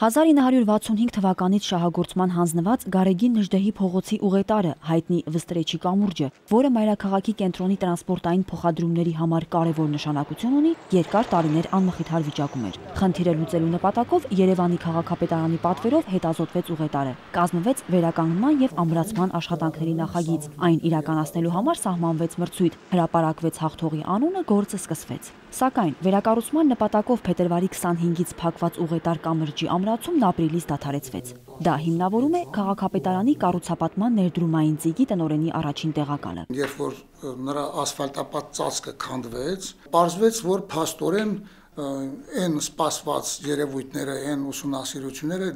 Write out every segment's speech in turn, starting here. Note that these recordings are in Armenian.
1965 թվականից շահագործման հանձնված Գարեգին Նժդեհի փողոցի ուղետարը, հայտնի Վստրեչի կամուրջը, որը մայրաքաղաքի կենտրոնի տրանսպորտային փոխադրումների համար կարևոր նշանակություն ունի, երկար տարիներ անմխիթար վիճակում էր։ Խնդիրը լուծելու նպատակով Երևանի քաղաքապետարանի պատվերով հետազոտվեց ուղետարը, կազմվեց վերականգնման և ամրացման աշխատանքների նախագիծ, այն իրականացնելու համար սահմանվեց մրցույթ, հրապարակվեց հաղթողի անունը, գործը սկսվեց։ Սակայն վերակառուցման նպատակով փետրվարի 25-ից փակված ուղետար կամրջի ամրացումն ապրիլից դադարեցվեց։ Դա հիմնավորում է քաղաքապետարանի կառուցապատման ներդրումային ծիգի տնօրենի առաջին տեղակալը։ Երբ որ նրա ասֆալտապատ ծածկը քանդվեց, պարզվեց, որ փաստորեն այն սպասված երևույթները, այն ուսումնասիրությունները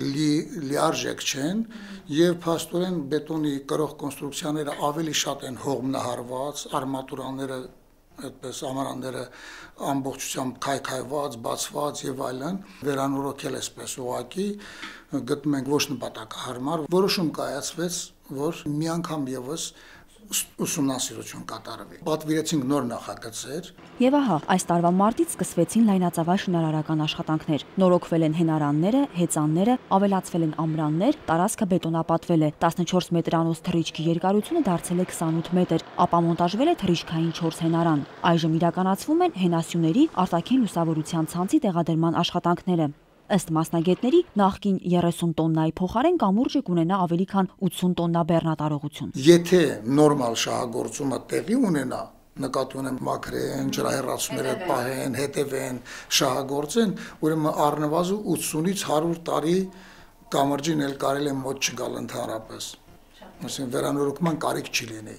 լիարժեք չեն եւ փաստորեն բետոնի կրող կոնստրուկցիաները ավելի շատ են հողմնահարված, արմատուրաները այդպես ամարանները ամբողջությամբ քայքայված, բացված եւ այլն, վերանորոգել էսպես ուղակի գտնում ենք ոչ նպատակահարմար, որոշում կայացվեց, որ մի անգամ եւս ուսումնասիրություն կատարվի։ Պատվիրեցինք նոր նախագծեր։ Եվ ահա, այս տարվա մարտից սկսվեցին լայնածավալ շինարարական աշխատանքներ։ Նորոգվել են հենարանները, հեծանները, ավելացվել են ամրաններ, տարածքը բետոնապատվել է, 14 մետրանոց թռիչքի երկարությունը դարձել է 28 մետր, ապա մոնտաժվել է թռիչքային 4 հենարան։ Այժմ իրականացվում են հենասյուների, արտաքին լուսավորության ցանցի տեղադրման աշխատանքները։ Ըստ մասնագետների, նախկին 30 տոննայի փոխարեն կամուրջը կունենա ավելի քան 80 տոննա բեռնատարողություն։ Եթե նորմալ շահագործումը տեղի ունենա, նկատի ունեմ մաքրեն, ջրահեռացումները պահեն, հետևեն, շահագործեն, ուրեմն առնվազն 80-ից 100 տարի կամրջին էլ կարելի է մոտ չգալ ընդհանրապես։ Այսինքն վերանորոգման կարիք չի լինի։